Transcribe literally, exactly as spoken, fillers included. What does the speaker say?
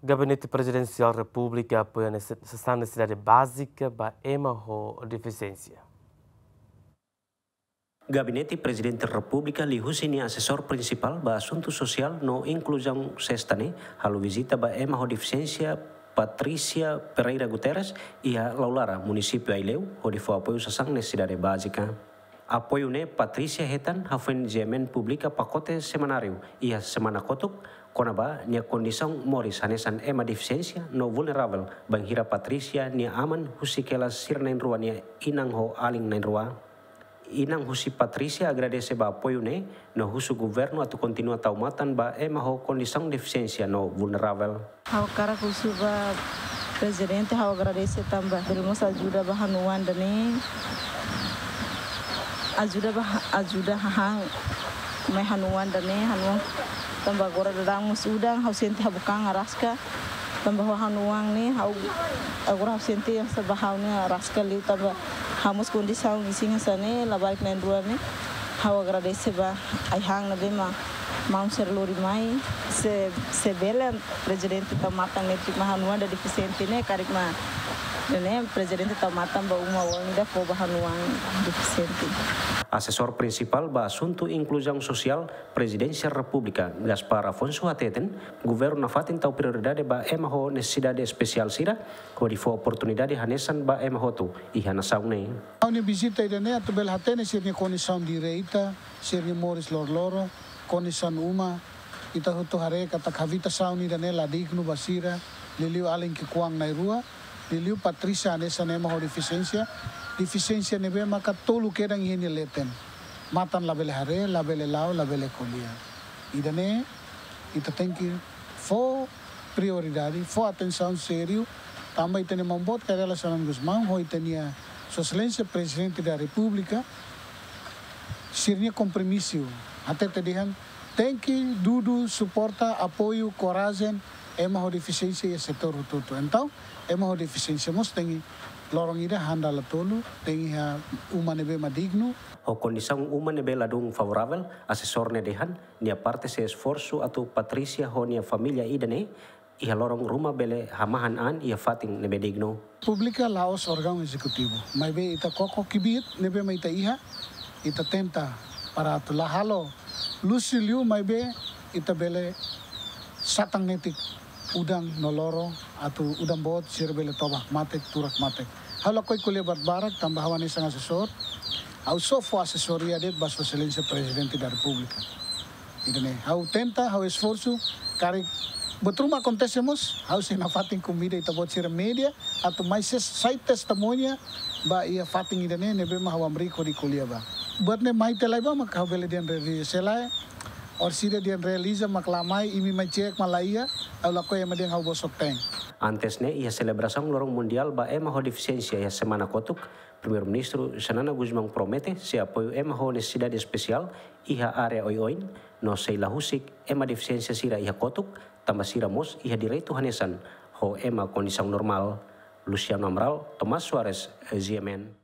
Gabinete Prezidensiál Repúblika apoia nese-, sasán nesesidade bázika ba ema ho defisiénsia. Gabinete Prezidente Repúblika liuhusi nia asesór prinsipál ba asuntu sosiál no inkluzaun sesta ne'e halo vizita ba ema ho defisiénsia Patrícia Pereira Guterres iha Laulara, munisípiu Aileu, hodi fó apoiu sasán nesesidade bázika. Apoiu ne'e Patrícia hetan hafoin G M N publika pakote semanáriu iha semana kotuk, kona-ba nia kondisaun moris hanesan ema defisiénsia no vulneravel, bainhira Patrícia nia aman husik hela sira na'in-rua nia inan ho alin na'in-rua. Inan husi Patrícia agradese ba apoiu ne'e, no husu governu atu kontinua tau matan ba ema ho kondisaun defisiénsia no vulneravel. Ha'u hakarak husu ba Prezidente, ha'u agradese tanba bele mós ajuda ba ha'u-nia oan ida-ne'e. Ajuda ba, ajuda hahán mai ha'u-nia oan ida-ne'e, ha'u-nia oan. Tanba agora daudaun mós udan, ha'u sente ha'u-nia bukan araska. Tanba ha'u-nia oan ne'e, ha'u agora ha'u sente hanesan ba ha'u ne'e araska liu tanba ha'u mós kondisaun isin hanesan ne'e, labarik na'in-rua ne'e. Ha'u agradese ba ai-han ne'ebé mak maun sira lori mai, se, se bele Prezidente tau matan netik mak ha'u-nia oan ida defisiente ne'e, karik mak ne'e Prezidente tau matan ba uma oan ida fó ba ha'u-nia oan defisiente. Asesór Prinsipál ba Asuntu Inkluzaun Sosiál Prezidénsia Repúblika, Gaspar Afonso hateten, governu nafatin tau prioridade ba ema ho nesesidade espesiál sira, hodi fó oportunidade hanesan ba ema hotu iha nasaun ne'e. Ha'u-nia vizita ida-ne'e atu bele hatene sira-nia kondisaun direta, sira-nia moris loroloron, kondisaun uma, ita hotu haree katak habitasaun ida-ne'e la dignu ba sira, liuliu alin ki'ikoan na'in-rua, liuliu Patrícia hanesan ema ho defisiénsia, defisiénsia ne'ebé maka tolu kedan iha nia leten. Matan labele haree, labele la'o, labele ko'alia. Ida-ne'e, ita tenke fó prioridade, fó atensaun sériu, tanba ita-nia maun boot Kay Rala Xanana Gusmão, ho ita-nia Sua Exelénsia Prezidente da Repúblika, sira-nia kompromisu, hatete dehan, tenke dudu suporta, apoiu, korajen, ema ho defisiénsia iha setór hotu-hotu. Entaun, ema ho defisiénsia mós tenke loron ida han dala tolu, tenke iha uma ne'ebé mak dignu. Ho kondisaun uma ne'ebé ladún favoravel, asesór ne'e dehan, nia parte sei esforsu atu Patrícia ho nia família ida-ne'e, iha loron ruma bele hamahan an iha fatin ne'ebé dignu. Repúblika la'ós órgaun ezekutivu, maibé ita koko kbiit ne'ebé mak ita iha, ita tenta para atu la halo luxu liu, maibé ita bele satan netik udan no loro atu udan boot sira bele toba hakmatek, tuur hakmatek. Ha'u lakohi ko'alia barak-barak tanba ha'u hanesan asesór, ha'u só fó asesoria de'it ba Sua Exelénsia Prezidente da Repúblika. Ida-ne'e, ha'u tenta, ha'u esforsu, karik buat ruma akontese mós, ha'u sei nafatin konvida ita-boot sira média, atu mai ses-, sai testemuña ba iha fatin ida-ne'e, ne'ebé mak ha'u hamriik hodi ko'alia ba. Buat ne'e mai tiha lai ba, maka ha'u bele dehan realiza, se lae, orsida dehan realiza mak la mai, imi mai cek mak la iha, ha'u lakohi ema dehan ha'u bosok-teen. Antes ne'e, iha selebrasaun Loron Mundiál ba Ema ho Defisiénsia iha semana kotuk, Primeiru-Ministru Xanana Gusmão promete sei apoiu ema ho nesesidade espesiál iha área oioin, no sei la husik ema defisiénsia sira iha kotuk, tanba sira mós iha direitu hanesan ho ema kondisaun normál. Luciano Amaral, Tomás Soares, G M N.